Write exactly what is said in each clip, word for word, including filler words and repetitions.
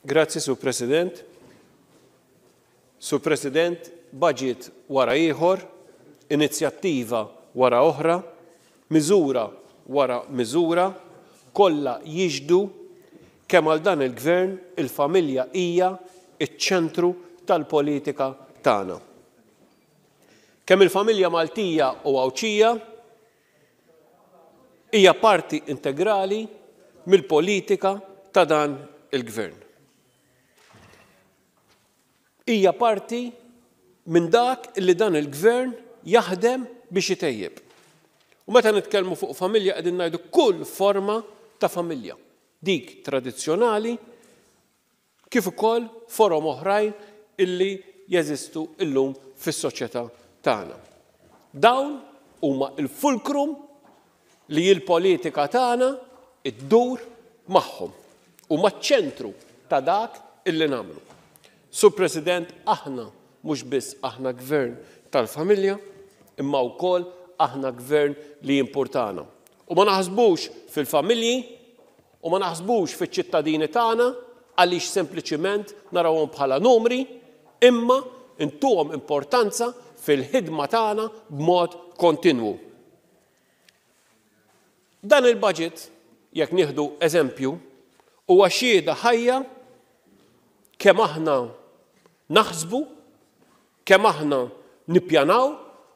Grazzi, Sur President. Sur President, budget wara ieħor, inizjattiva wara oħra, miżura wara miżura, kollha jixhdu kemm għal dan il-gvern il-familja hija iċ-ċentru tal-politika tagħna. Kemm il-familja Maltija u Għawdxija hija parti integrali mill-politika ta' dan il-gvern. Hija parti minn dak li dan il-gvern jaħdem biex itejjeb. U meta nitkellmu fuq familja, qegħdin ngħidu kull forma ta' familja. Dik tradizzjonali kif ukoll forom oħrajn illi jeżistu illum fis-soċjetà tagħna. Dawn huma il-fulcrum li l-politika tagħna iddur magħhom u maċ-ċentru ta' dak illi nagħmlu. Sur President, aħna mhux biss aħna gvern tal-familja, imma wkoll aħna gvern li jimpurtana. U ma naħsbux fil-familji u ma naħsbux fiċ-ċittadini tagħna għaliex sempliċiment narawhom bħala numri, imma intuhom importanza fil-ħidma tagħna b'mod kontinwu. Dan il-budget, jekk nieħdu eżempju, huwa xhieda ħajja kemm aħna naħsbu, kemm aħna nippjanaw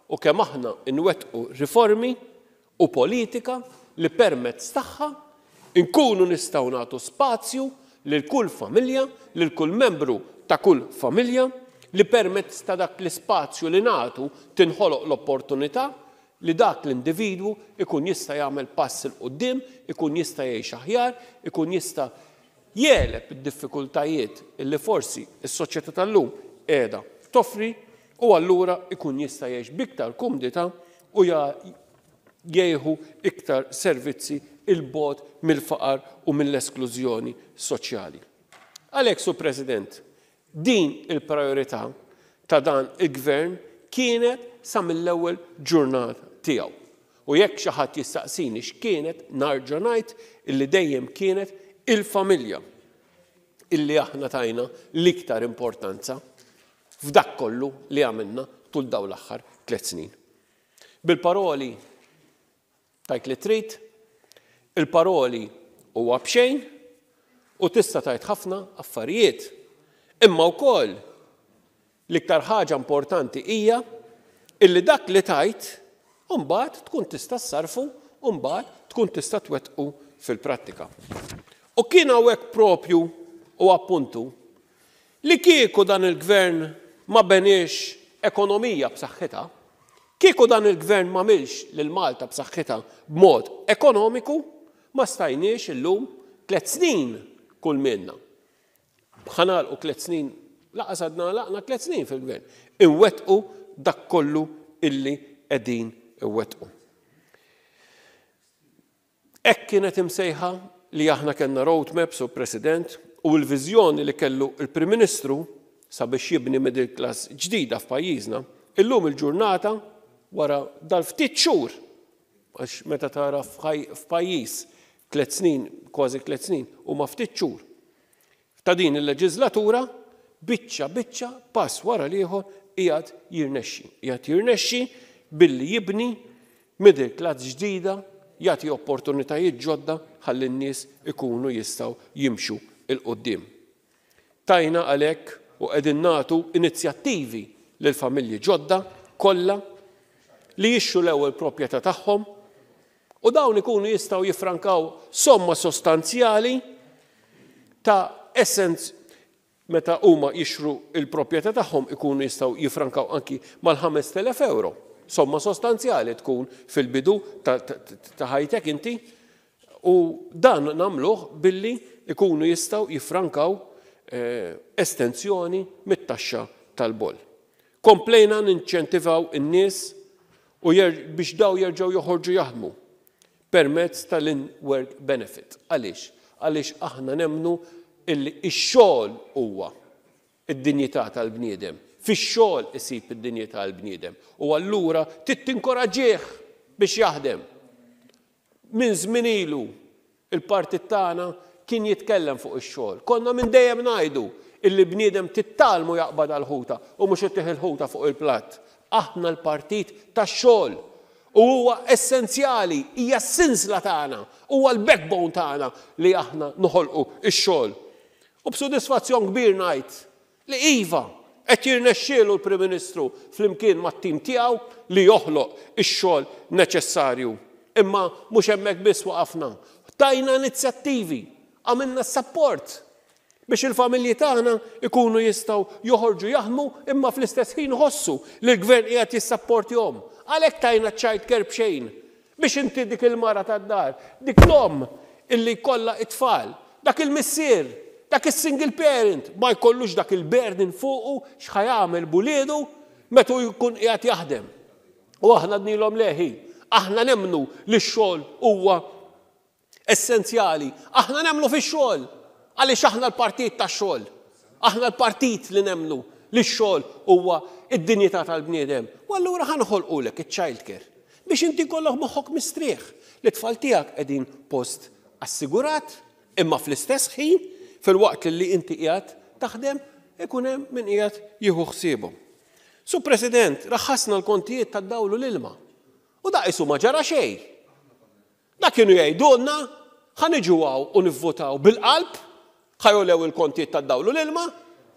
u kemm aħna nwettqu riformi u politika li permezz tagħha nkunu nistgħu nagħtu spazju lil kull familja, lil kull membru ta' kull familja, li permezz ta' dak l-ispazju li nagħtu tinħoloq l-opportunità li dak l-individwu ikun jista' jagħmel pass 'il quddiem, ikun jista' jgħix aħjar, ikun jista' jegħleb id-diffikultajiet li forsi s-soċjetà tal-lum qiegħda toffri u allura ikun jista' jgħix b'iktar kumdità u jieħu iktar servizzi 'il bogħod mill-faqar u mill-esklużjoni soċjali. Għalhekk, Sur President, din il-priorità ta' dan il-gvern kienet sa mill-ewwel ġurnata tiegħu. U jekk xi ħadd jistaqsini x'kienet, nerġa' ngħid illi dejjem kienet il-familja illi aħna tajna l-iktar importanza f'dak kollu li għamilna tul dawn l-aħħar tliet snin. Bil-paroli tgħid li trid, il-paroli huwa b'xejn u tista' tgħid ħafna affarijiet. Imma wkoll l-iktar ħaġa importanti hija illi dak li tgħid mbagħad tkun tista' ssarfu u mbagħad tkun tista' twettqu fil-prattika. U kien hawnhekk propju u appuntu li kieku dan il-gvern ma beniex ekonomija b'saħħitha, kieku dan il-gvern ma għamilx lil Malta b'saħħitha b'mod ekonomiku, ma stajniex illum tliet snin kull minna. Ħa nagħlqu tliet snin, lanqas għadna għalaqna tliet snin fil-gvern. Inwettqu dak kollu illi qegħdin inwettqu. Hekk kienet imsejħa li aħna kellna roadmap, Sur President, u l-viżjoni li kellu il-Prim Ministru sabiex jibni middle class ġdida f'pajjiżna, illum il-ġurnata wara dal-ftit xhur, għax meta tara f'pajjiż tliet snin, kważi tliet snin, huma ftit xhur. Ta' din il-leġislatura, biċċa biċċa, pass wara l-ieħor, qiegħed jirnexxi. Qiegħed jirnexxi billi jibni middle class ġdida, jagħti opportunitajiet ġodda ħalli n-nies ikunu jistgħu jimxu 'l quddiem. Tajna għalhekk u qegħdin nagħtu inizjattivi lil familji ġodda kollha li jixtru l-ewwel proprjetà tagħhom u dawn ikunu jistgħu jifrankaw somma sostanzjali ta' essence meta huma jixtru il-proprjetà tagħhom, ikunu jistgħu jifrankaw anki mal-ħamest elef euro. Somma sostanzjali tkun fil-bidu ta' ħajtek inti u dan nagħmluh billi ikunu jistgħu jifrankaw eh, estensjoni mit-taxxa tal-boll. Komplejna ninċentivaw in-nies u biex dawn jerġgħu joħorġu jaħdmu permezz tal-in-work benefit. Għaliex? Għaliex aħna nemnu illi ix-xogħol huwa id-dinjità tal-bniedem. Fix-xogħol isib id-dinjità tal-bniedem. U allura trid tinkoraġġih biex jaħdem. Minn żmien ilu il-partit tagħna kien kien jitkellem fuq ix-xogħol. Konna minn dejjem ngħidu illi bniedem titgħallmu jaqbad għal-ħuta u mhux ittih il-ħuta fuq il-platt. Aħna l-partit tax-xogħol. U huwa essenzjali, hija s-sinsla tagħna, huwa l-backbone tagħna li aħna noħolqu ix-xogħol. U b'sodisfazzjon kbir ngħid li iva, qed jirnexxielu l-Prim Ministru flimkien mat-tim tiegħu li joħloq ix-xogħol neċessarju. Imma mhux hemmhekk biss waqafna. Tajna inizjattivi, għamilna support biex il-familji tagħna ikunu jistgħu joħorġu jaħdmu imma fl-istess ħin ħossu li l-gvern qiegħed jissapportjahom. Għalhekk tajna child care b'xejn biex inti dik il-mara tad-dar, dik l-om illi kollha it-tfal, dak il-missier, dak il-single parent, ma jkollux dak il-burden fuqu x'ħa jagħmel b'uliedu meta jkun qiegħed jaħdem. U aħna għednielhom le ħi, aħna nemmnu li x-xogħol huwa essenzjali. Aħna nemmnu fix-xogħol. Għaliex aħna l-partit tax-xogħol. Aħna l-partit li nemmnu li x-xogħol huwa id-dinjità tal-bniedem. U allura ħa noħolqulek iċ-child care biex inti kollok moħħok mistrieħ li tfal tiegħek qegħdin post assigurat, imma fl-istess ħin fil-waqt li inti qiegħed taħdem ikun hemm min qiegħed jieħu ħsiebhom. Sur President, raħħasna l-kontijiet tad-dawl u l-ilma. U da qisu ma ġara xejn. Da kienu jgħidulna ħa niġu hawn u nivvotaw bil-qalb, ħa jogħlew il-kontijiet tad-dawl u l-ilma,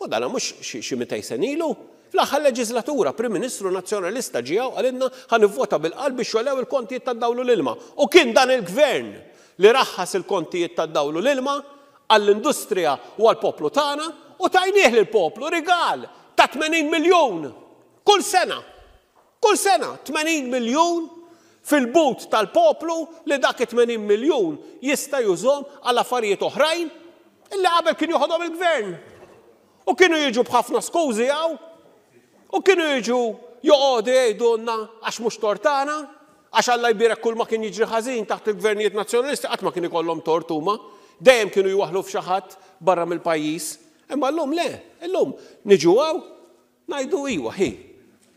u dana mhux xi mitejn sena ilu. Fl-aħħar leġislatura, Prim Ministru Nazzjonalista ġie hawn qalilna ħa nivvota bil-qalb biex jogħlew il-kontijiet tad-dawl u l-ilma. U kien dan il-gvern li raħħas il-kontijiet tad-dawl u l-ilma għall-industrija u għall-poplu tagħna u tajnieh lill-poplu rigal ta' tmenin miljun kull sena. Kull sena tmenin miljun fil-but tal-poplu li dak tmenin miljun jista' jużhom għal affarijiet oħrajn illi qabel kien joħodhom il-gvern. U kienu jiġu b'ħafna skużi hawn, u kienu jiġu joqogħdu jgħidulna għax mhux tort tagħna, għax Alla jbierek kull ma kien jiġri ħażin taħt il-gvernijiet nazzjonalisti qatt ma kien ikollhom tort huma, dejjem kienu jwaħħlu f'xi ħadd barra mill-pajjiż. Imma llum le, illum niġu hawn ngħidu iwa ħi.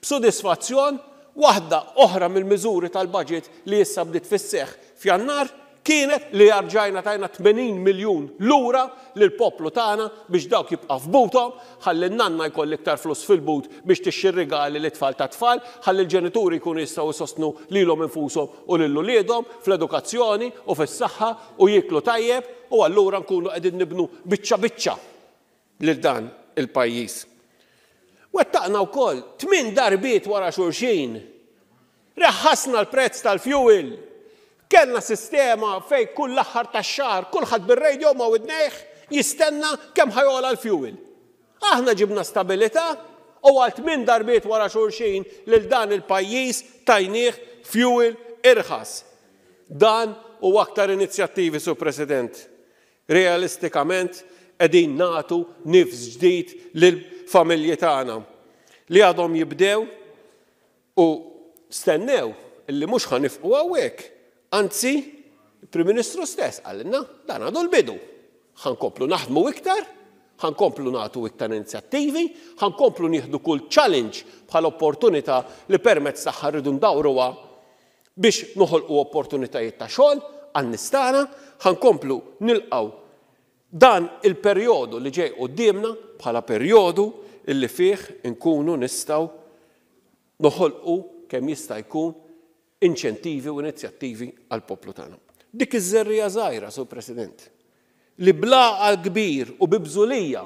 B'sodisfazzjon waħda oħra mill-miżuri tal-budget li issa bdiet fis-seħħ f'Jannar kienet li rġajna tajna tmenin miljun lura lill-poplu tagħna biex dawk jibqa' f'buthom, ħalli n-nanna jkoll iktar flus fil-but biex tixxi rigali lit tfal ta' tfal, ħalli l-ġenituri jkunu jistgħu jsostnu lilhom infushom u lil uliedhom fl-edukazzjoni u fis-saħħa u jieklu tajjeb, u allura nkunu qegħdin nibnu biċċa biċċa lil dan il-pajjiż. Wettaqna wkoll tmien darbiet wara xulxin. Reħħasna l-prezz tal-fuel. Kellna sistema fej kull l-aħħar tax-xahar kulħadd bir-radio ma' widnejh jistenna kemm ħa jogħla l-fuel. Aħna ġibna stabilità u għal tmien darbiet wara xulxin lil dan il-pajjiż tajnieh fuel irħas. Dan u aktar inizjattivi, Sur President. Realistikament qegħdin nagħtu nifs ġdid lill-familji tagħna li għadhom jibdew u stennew illi mhux ħa nifqu hawnhekk. Anzi, il-Prim Ministru stess qalilna dan għadu l-bidu. Ħa nkomplu naħdmu iktar, ħa nkomplu nagħtu iktar inizjattivi, ħa nkomplu nieħdu kull challenge bħala opportunità li permezz tagħha rridu ndawruha biex noħolqu opportunitajiet ta' xogħol għan-nies tagħna, ħa nkomplu nilqgħu dan il-perjodu li ġej quddiemna bħala perjodu illi fih inkunu nistgħu noħolqu kemm jista' jkun inċentivi u inizjattivi għall-poplu tagħna. Dik iż-żerriegħa żgħira, Sur President, li bl-għaqal kbir u bi bżulija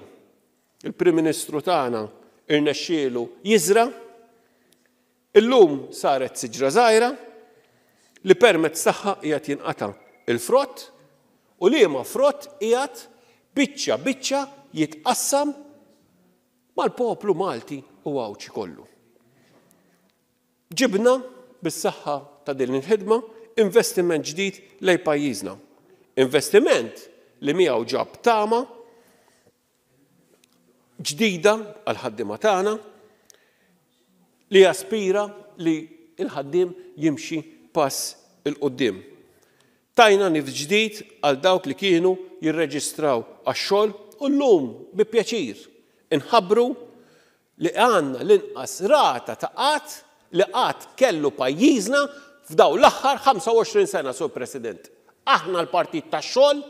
il-Prim Ministru tagħna irnexxielu jiżra, illum saret siġra żgħira li permezz tagħha qiegħed jinqata' il-frott u liema frott qiegħed biċċa biċċa jitqassam mal-poplu Malti u Għawdxi kollu. Ġibna bis-saħħa ta' din il-ħidma investiment ġdid lejn pajjiżna. Investiment li miegħu ġab tama ġdida għal-ħaddiema tagħna li jaspira li l-ħaddiem jimxi pass 'il quddiem. Tajna nifs ġdid għal dawk li kienu jirreġistraw għax-xogħol u llum bi pjaċir inħabbru li għandna l-inqas rata ta' qatt li qatt kellu pajjiżna f'daw l-aħħar ħamsa u għoxrin sena, Sur President. Aħna l-partit tax-xogħol,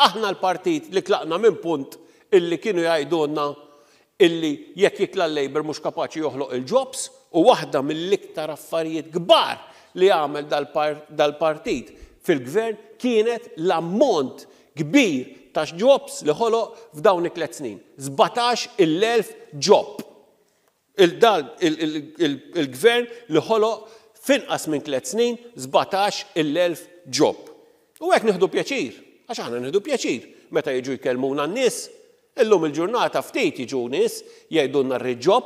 Aħna l-partit li tlaqna minn punt illi kienu jgħidulna illi jekk jitla' l-Labour mhux kapaċi joħloq il-jobs, u waħda mill-iktar affarijiet kbar li għamel dal-partit fil-gvern kienet l-ammont kbir ta' jobs li ħoloq f'dawn it-tliet snin. sbatax il-elf job. Il-gvern li ħoloq finqas minn tliet snin sbatax il-elf job. U hekk nieħdu pjaċir, għax aħna nieħdu pjaċir meta jiġu jkellmuna n-nies. Illum il-ġurnata ftit jiġu nies jgħidulna rrid job,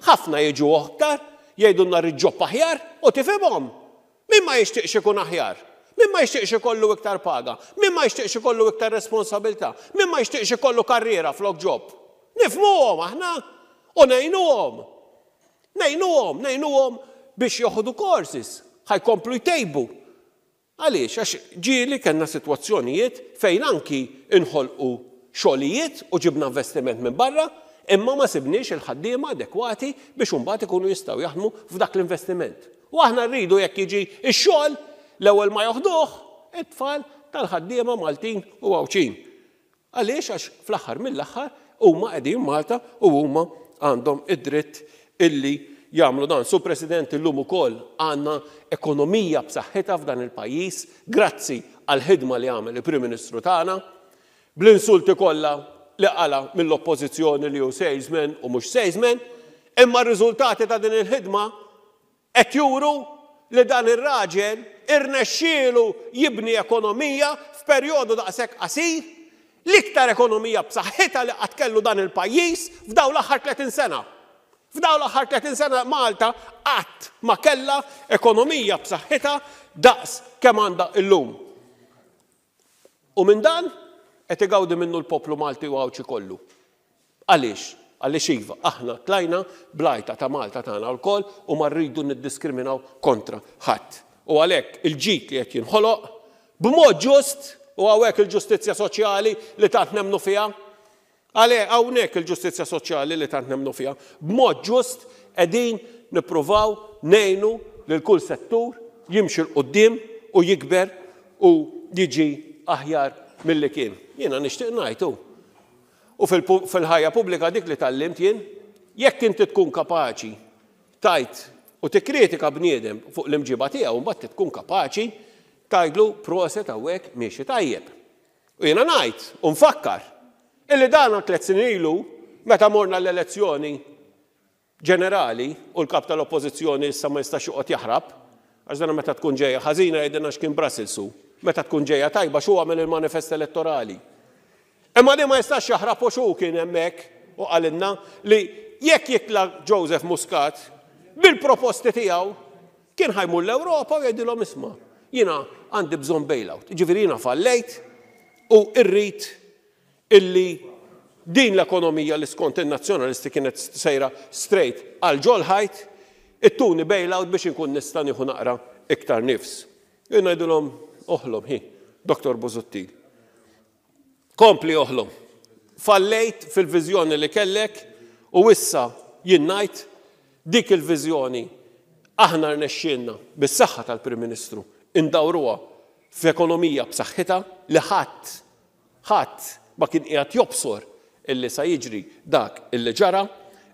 ħafna jiġu aktar jgħidulna rrid job aħjar u tifhimhom. Min ma jixtieqx ikun aħjar? Min ma jixtieqx ikollu iktar paga? Min ma jixtieqx ikollu iktar responsabilità? Min ma jixtieqx ikollu karriera flok job? Nifhmuhom aħna u ngħinuhom. Ngħinuhom, ngħinuhom biex joħdu courses, ħa jkomplu jtejbu. Għaliex, għax ġieli kellna sitwazzjonijiet fejn anki inħolqu xogħlijiet u ġibna investiment minn barra, imma ma sibniex il-ħaddiema adekwati biex imbagħad ikunu jistgħu jaħdmu f'dak l-investiment. U aħna rridu jekk jiġi x-xogħol l-ewwel ma joħduh it-tfal tal-ħaddiema Maltin u Għawdxin. Għaliex? Għax fl-aħħar mill-aħħar huma qegħdin Malta u huma għandhom id-dritt illi jagħmlu dan. Sur President, illum ukoll għandna ekonomija b'saħħitha f'dan il-pajjiż grazzi għall-ħidma li għamel il-Prim Ministru tagħna, bl-insulti kollha li qala mill-oppożizzjoni li hu salesman u mhux salesman, imma r-riżultati ta' din il-ħidma qed juru li dan ir-raġel irnexxielu jibni ekonomija f'perjodu daqshekk qasir, l-iktar ekonomija b'saħħitha li qatt kellu dan il-pajjiż f'dawn l-aħħar tletin sena. F'dawn l-aħħar tletin sena Malta qatt ma kellha ekonomija b'saħħitha daqs kemm għandha illum. U minn dan qed igawdi minnu l-poplu Malti u Għawdxi kollu. Għaliex? Għaliex iva, aħna tlajna blajta ta' Malta tagħna lkoll u ma rridu niddiskriminaw kontra ħadd. U għalhekk il-ġid li qed jinħoloq b'mod ġust, u hawnhekk il-ġustizzja soċjali li tant nemnu fiha, għalhekk hawnhekk il-ġustizzja soċjali li tant nemnu fiha, b'mod ġust qegħdin nippruvaw ngħinu lil kull settur jimxi 'l quddiem u jikber u jiġi aħjar milli kien. Jiena nixtieq ngħid, u fil-ħajja pubblika dik li tgħallimt jien, jekk inti tkun kapaċi tajt u tikkritika bniedem fuq l-imġiba tiegħu, mbagħad tkun kapaċi tgħidlu proset hawnhekk miexi tajjeb. U jiena ngħid u nfakkar illi dan tliet snin ilu meta morna l-elezzjoni ġenerali u l-kap tal-oppożizzjoni issa ma jistax joqgħod jaħrab, għax dan meta tkun ġejja ħażina jgħidilna x'kien Brussels hu, meta tkun ġejja tajba x'hu għamel il-manifest elettorali. Imma li ma jistax jaħrab u x'hu kien hemmhekk u qalilna li jekk jitla' Joseph Muscat bil-proposti tiegħu kien ħajmur l-Ewropa u jgħidilhom isma' jiena għandi bżonn bailout. Ġifieri jiena fallejt u rrid illi din l-ekonomija li skont in-nazzjonalisti kienet sejra straight għal ġol ħajt, ittuni bailout biex inkun nista' nieħu naqra iktar nifs. Jien ngħidilhom oħlom hi, Doktor Busuttil. Kompli oħlom. Fallejt fil-viżjoni li kellek u issa jien ngħid dik il-viżjoni aħna rnexxielna bis-saħħa tal-Prim Ministru indawruha f'ekonomija b'saħħitha li ħadd ħadd ma kien qiegħed jobsor illi sa jiġri dak illi ġara,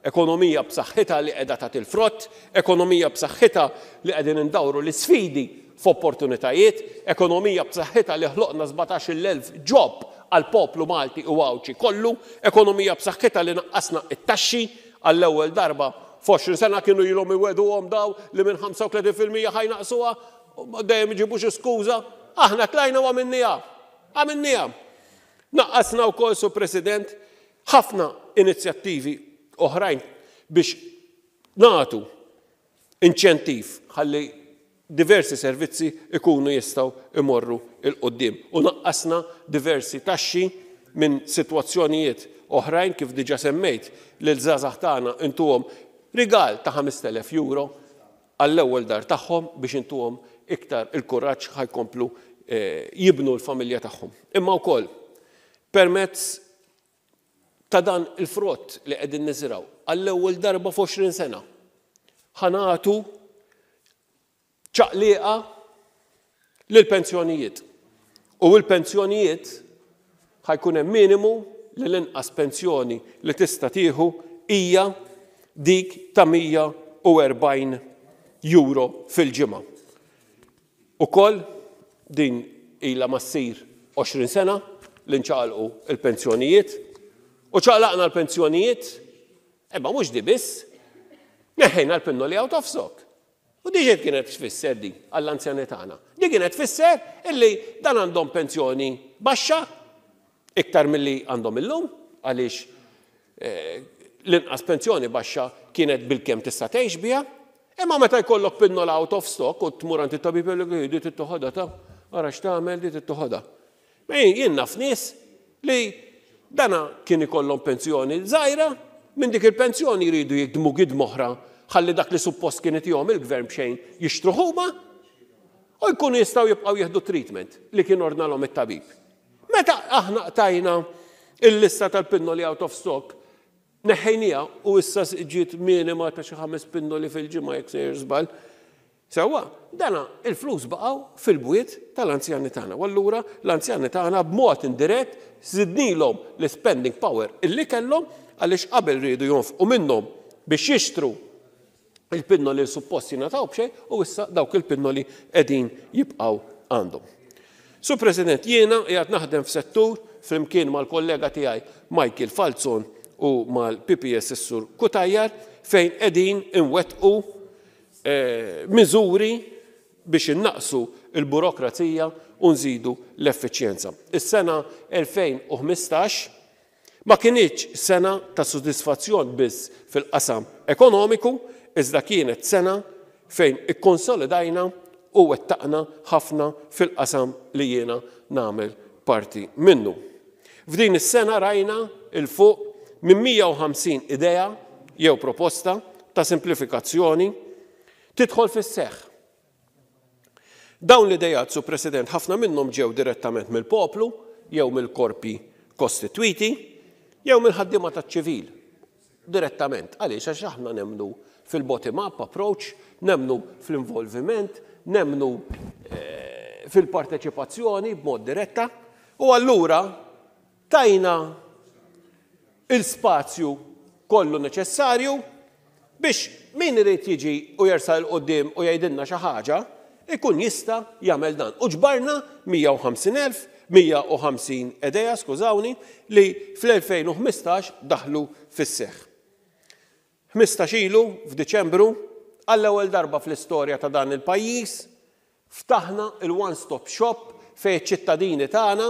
ekonomija b'saħħitha li qiegħda tagħti l-frott, ekonomija b'saħħitha li qegħdin indawru l-isfidi f'opportunitajiet, ekonomija b'saħħitha li ħloqna sbatax il-elf job għall-poplu Malti u Għawdxi kollu, ekonomija b'saħħitha li naqqasna it-taxxi għall-ewwel darba f'għoxrin sena kienu ilhom iwegħduhom daw li minn ħamsa u tletin fil-mija ħajnaqsuha, dejjem iġibu xi skuża, aħna tlajna u għamilniha. Għamilniha. Naqqasna wkoll, Sur President, ħafna inizjattivi oħrajn biex nagħtu inċentiv ħalli diversi servizzi ikunu jistgħu imorru 'l quddiem. U naqqasna diversi taxxi minn sitwazzjonijiet oħrajn kif diġà semmejt lil żgħażagħ tagħna intuhom rigal ta' ħamest elef euro għall-ewwel dar tagħhom biex intuhom iktar il-kuraġġ ħajkomplu, eh, jibnu l-familja tagħhom. Imma wkoll permezz ta' dan il-frott li qegħdin niżraw għall-ewwel darba f'għoxrin sena ħanatu ċaqliqa lill-pensjonijiet. U l-pensjonijiet ħa jkun hemm minimu li l-inqas pensjoni li tista' tieħu hija dik ta' mija u erbgħin euro fil-ġimgħa. Ukoll din ilha ma ssir għoxrin sena li nċaqalqu il-pensjonijiet u ċaqlaqna l-pensjonijiet, imma mhux di biss, neħħejna l-pinnoli out of stock. U diġet kienet tfisser di għall-anzjani tagħna? Di kienet tfisser illi dan għandhom pensjoni baxxa iktar milli għandhom illum, għaliex eh, l-inqas pensjoni baxxa kienet bilkemm tista' tgħix biha, imma meta jkollok pinnola out of stock u tmur għand it-tabib, jgħidlek, "Di trid toħodha ta', ara x'tagħmel, di trid toħodha." Jien naf nies li dana kien ikollhom pensjoni żgħira, minn dik il-pensjoni jridu jikdmu gidma oħra ħalli dak li suppost kien jagħtihom il-gvern b'xejn jixtru huma u jkunu jistgħu jibqgħu jieħdu treatment li kien ordnalhom it-tabib. Meta aħna qtajna il-lista tal-pinnoli out of stock, neħħejnieha u issa ġiet minima ta' xi ħames pinnoli fil-ġimgħa, jekk sejjer żball. Sewwa, dana il-flus baqgħu fil-bwiet tal-anzjani tagħna. U allura l-anzjani tagħna b'mod indirett żidnilhom l-spending power illi kellhom, għaliex qabel riedu jonfqu minnhom biex jixtru il-pinnoli suppost jingħataw b'xejn u issa dawk il-pinnoli qegħdin jibqgħu għandhom. Sur President, jiena qiegħed naħdem f'settur flimkien mal-kollega tiegħi Michael Falzon u mal-P P S is-Sur Cutajar fejn qegħdin inwettqu eh, miżuri biex innaqsu il-burokrazija u nżidu l-effiċjenza. Is-sena elfejn u ħmistax ma kinitx sena ta' sodisfazzjon biss fil-qasam ekonomiku, iżda kienet sena fejn ikkonsolidajna u wettaqna ħafna fil-qasam li jiena nagħmel parti minnu. F'din is-sena rajna 'il fuq minn mija u ħamsin idea jew proposta ta' simplifikazzjoni tidħol fis-seħħ. Dawn l-idejat, Sur President, ħafna minnhom ġew direttament mill-poplu jew mill-korpi kostitwiti jew mill-ħaddiema taċ-ċivil. Direttament. Għaliex? Għax aħna nemmnu fil-bottom-up approach, nemmnu fl-involviment, nemmnu eh, fil-parteċipazzjoni b'mod diretta u allura tajna il-spazju kollu neċessarju biex min irid jiġi u jersaq 'il quddiem u jgħidilna xi ħaġa, ikun jista' jagħmel dan. U ġbarna mija u ħamsin elf, mija u ħamsin idea, skużawni, li fl-elfejn u ħmistax daħlu fis-seħħ. ħmistax ilu, f'Diċembru, għall-ewwel darba fl-istorja ta' dan il-pajjiż, ftaħna il-one-stop shop fejn ċittadini tagħna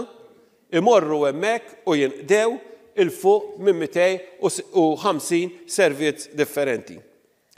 imorru hemmhekk u jinqdew 'il fuq minn mitejn u ħamsin servizz differenti.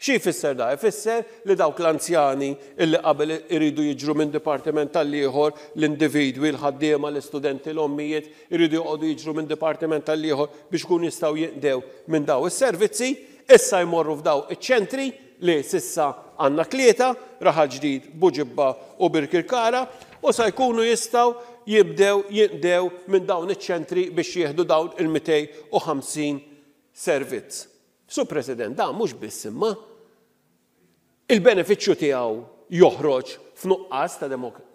Xi jfisser da? Ifisser li dawk l-anzjani illi qabel iridu jiġru minn dipartiment tal-ieħor, l-individwi, l-ħaddiema, l-istudenti, l-ommijiet, iridu joqogħdu jiġru minn dipartiment tal-ieħor biex kun jistgħu jinqdew minn daw is-servizzi, issa jmorru f'daw iċ-ċentri li s'issa għandna tlieta, Raħal Ġdid, Buġibba u Birkirkara, u sa jkunu jistgħu jibdew jinqdew minn dawn iċ-ċentri biex jieħdu dawn il-mitejn u ħamsin servizz. Sur President, da mhux biss imma il-benefiċċju tiegħu joħroġ f'nuqqas ta',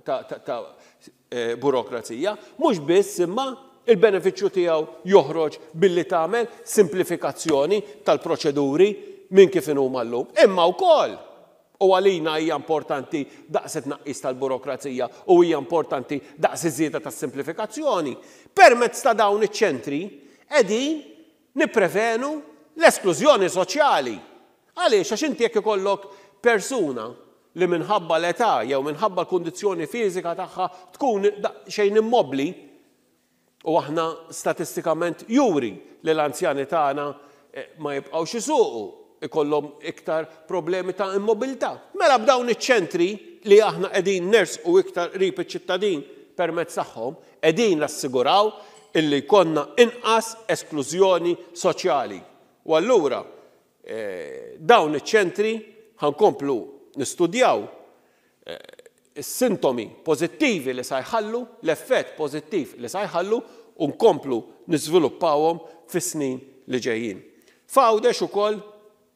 ta, ta, ta eh, burokrazija, mhux biss imma il-benefiċċju tiegħu joħroġ billi tagħmel simplifikazzjoni tal-proċeduri minn kif inhuma llum. Imma wkoll u għalina hija importanti daqs it-tnaqqis tal-burokrazija u hija importanti daqs iż-żieda tas-simplifikazzjoni. Permezz ta' dawn iċ-ċentri qegħdin nipprevenu l-esklużjoni soċjali. Għaliex? Għax inti jekk ikollok persuna li minħabba l-età jew minħabba l-kundizzjoni fiżika tagħha tkun xejn immobli, u aħna statistikament juri li l-anzjani tagħna eh, ma jibqgħux isuqu, ikollhom iktar problemi ta' immobilità. Mela b'dawn iċ-ċentri li aħna qegħdin nersqu iktar qrib iċ-ċittadin permezz tagħhom, qegħdin nassiguraw illi jkollna inqas esklużjoni soċjali. U allura eh, dawn iċ-ċentri ħa nkomplu nistudjaw eh, is-sintomi pożittivi li sa jħallu, l-effett pożittiv li sa jħallu, u nkomplu niżviluppawhom fis-snin li ġejjin. F'Għawdex ukoll,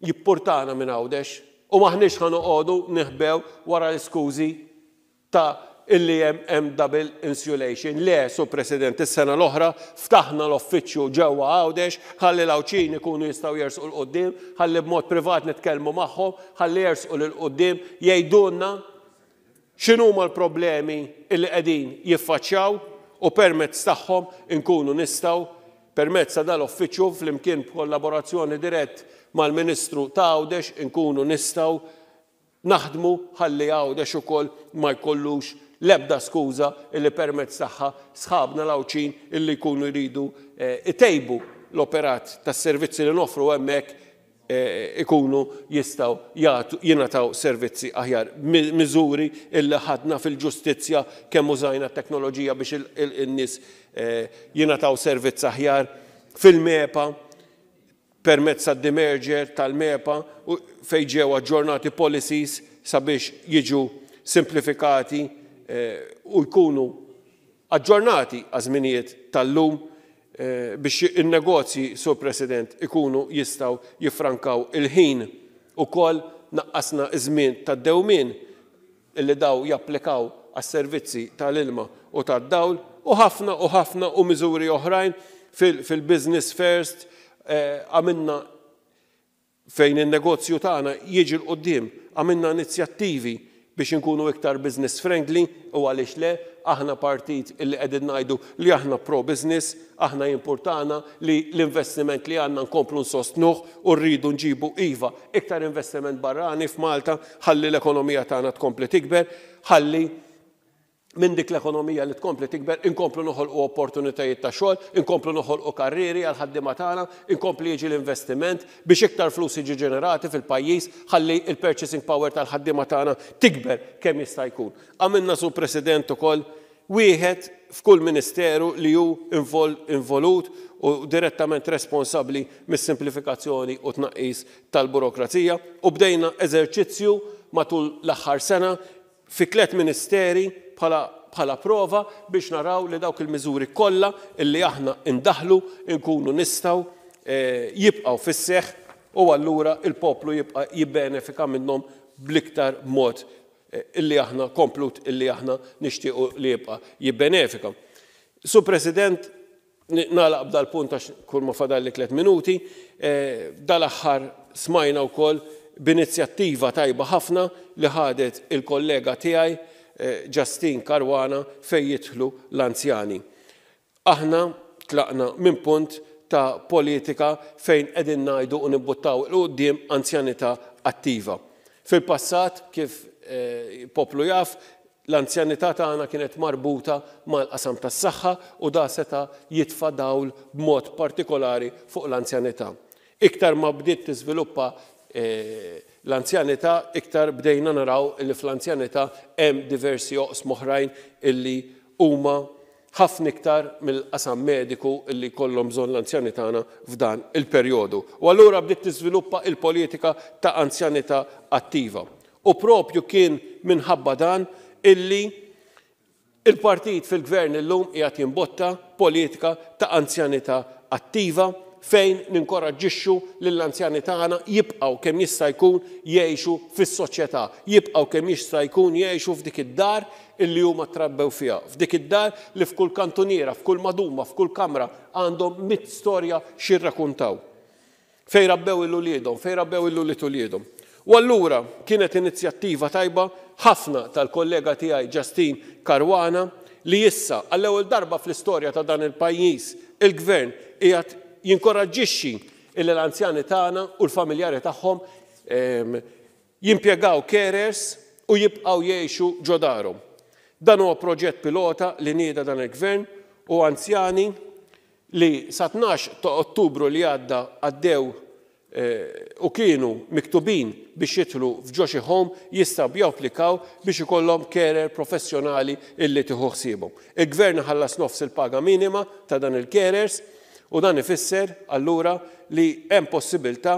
jimpurtana minn Għawdex u maħniex ħa noqogħdu niħbew wara l-iskużi ta' illi hemm double insulation. Le, Sur President, is-sena l-oħra ftaħna l-uffiċċju ġewwa Għawdex, ħalli l-Għawdxin ikunu jistgħu jersqu 'l quddiem, ħalli b'mod privat nitkellmu magħhom, ħalli jersqu 'l quddiem jgħidulna x'inhuma l-problemi illi qegħdin jiffaċċjaw u permezz tagħhom inkunu nistgħu permezz ta' dal-uffiċċju flimkien b'kollaborazzjoni dirett mal-Ministru ta' Għawdex inkunu nistgħu naħdmu ħalli Għawdex ukoll ma jkollux l-ebda skuża illi permezz tagħha sħabna l-Għawdxin illi jkunu jridu itejbu l-operat tas-servizzi li noffru hemmhekk ikunu jistgħu jingħataw servizzi aħjar. Miżuri illi ħadna fil-ġustizzja kemm użajna t-teknoloġija biex in-nies jingħataw servizz aħjar fil-MEPA permezz tad-demerger tal-MEPA fejn ġew aġġornati policies sabiex jiġu simplifikati u jkunu aġġornati għaż-żminijiet tal-lum biex in-negozji, Sur President, ikunu jistgħu jiffrankaw il-ħin ukoll naqqasna iż-żmien tad-dewmien illi daw japplikaw għas-servizzi tal-ilma u tad-dawl u ħafna u ħafna u miżuri oħrajn fil-business first għamilna fejn in-negozju tagħna jiġi 'l quddiem, għamilna inizjattivi biex inkunu iktar business friendly u għaliex le, aħna partit illi qegħdin ngħidu li aħna pro-business, aħna jimpurtana li l-investiment li għandna nkomplu nsostnuh u rridu nġibu iva iktar investiment barrani f'Malta ħalli l-ekonomija tagħna tkompli tikber, ħalli minn dik l-ekonomija li tkompli tikber, inkomplu noħolqu opportunitajiet ta' xogħol, inkomplu noħolqu karrieri għal ħaddiema tagħna, inkompli jiġi l-investiment biex iktar flus jiġi ġenerati fil-pajjiż, ħalli il-purchasing power tal-ħaddiema tagħna tikber kemm jista' jkun. Għamilna, Sur President, ukoll wieħed f'kull ministeru li hu involut u direttament responsabbli mis-simplifikazzjoni u tnaqqis tal-burokrazija u bdejna eżerċizzju matul l-aħħar sena fi tliet ministeri bħala prova biex naraw li dawk il-miżuri kollha illi aħna indaħlu nkunu nistgħu jibqgħu fis-seħħ u allura il-poplu jibqa' jibbenefika minnhom bl-iktar mod illi aħna komplut illi aħna nixtiequ li jibqa' jibbenefika. Sur President, nagħlaq b'dal-punt għax kull ma fadalli tliet minuti, dal-aħħar smajna wkoll b'inizjattiva tajba ħafna li ħadet il-kollega tiegħi Justyne Caruana fejn jidħlu l-anzjani. Aħna tlaqna minn punt ta' politika fejn qegħdin ngħidu u nibbuttaw 'il quddiem anzjanità attiva. Fil-passat, kif poplu jaf, l-anzjanità tagħna kienet marbuta mal-qasam tas-saħħa u da seta' jitfa' dawl b'mod partikolari fuq l-anzjanità. Iktar ma bdiet tiżviluppa l-anzjanità, iktar bdejna naraw li fl-anzjanità hemm diversi oqsma oħrajn illi huma ħafna iktar mill-qasam mediku illi kollhom bżonn l-anzjani tagħna f'dan il-perjodu. U allura bdiet tiżviluppa il-politika ta' anzjanità attiva. U propju kien minħabba dan illi il-partit fil-gvern illum qiegħed jimbotta politika ta' anzjanità attiva fejn ninkoraġġixxu lill-anzjani tagħna jibqgħu kemm jista' jkun jgħixu fis-soċjetà, jibqgħu kemm jista' jkun jgħixu f'dik id-dar illi huma trabbew fiha, f'dik id-dar li f'kull kantuniera, f'kull maduma, f'kull kamra għandhom mitt storja x'jirrakuntaw. Fejn rabbew il-uliedhom, fejn rabbew il-ulied uliedhom. U allura kienet inizjattiva tajba ħafna tal-kollega tiegħi Justyne Caruana li issa għall-ewwel darba fl-istorja ta' dan il-pajjiż il-gvern qiegħed jinkoraġġixxi illi l-anzjani tagħna u l-familjari tagħhom jimpjegaw carers u jibqgħu jgħixu ġo darhom. Dan huwa proġett pilota li nieda dan il-gvern u anzjani li sa tnax ta' Ottubru li għadda għaddew u kienu miktubin biex jidħlu f'ġo xi home jistgħu japplikaw biex ikollhom carer professjonali illi tieħu ħsiebhom. Il-gvern ħallas nofs il-paga minima ta' dan il-carers u dan ifisser allura li hemm possibilità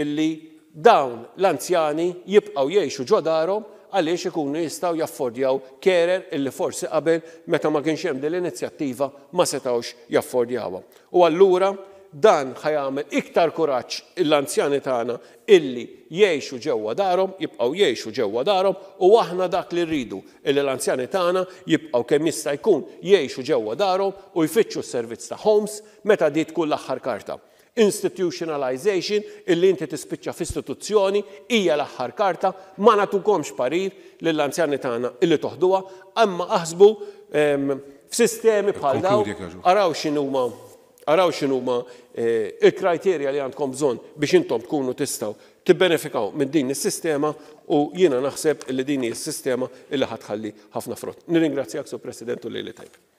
illi dawn l-anzjani jibqgħu jgħixu ġo darhom għaliex ikunu jistgħu jaffordjaw carer illi forsi qabel meta ma kienx hemm din l-inizjattiva ma setgħux jaffordjawha. U allura Dan ħa jagħmel iktar kuraġġ l-anzjani tagħna illi jgħixu ġewwa darhom, jibqgħu jgħixu ġewwa darhom, u aħna dak li rridu, illi l-anzjani tagħna jibqgħu kemm jista' jkun jgħixu ġewwa darhom u jfittxu s-servizz ta' homes meta di tkun l-aħħar karta. Institutionalization, illi inti tispiċċa f'istituzzjoni, hija l-aħħar karta. Ma nagħtukomx parir lill-anzjani tagħna illi toħduha, imma aħsbu f'sistemi bħal dawn, araw x'inhuma araw x'inhuma eh, il-kriterja li għandkom bżonn biex intom tkunu tistgħu tibbenefikaw minn din is-sistema, u jiena naħseb li din hi s-sistema illi ħa tħalli ħafna frott. Nirringrazzjak, Sur President, u lejl it-tajjeb.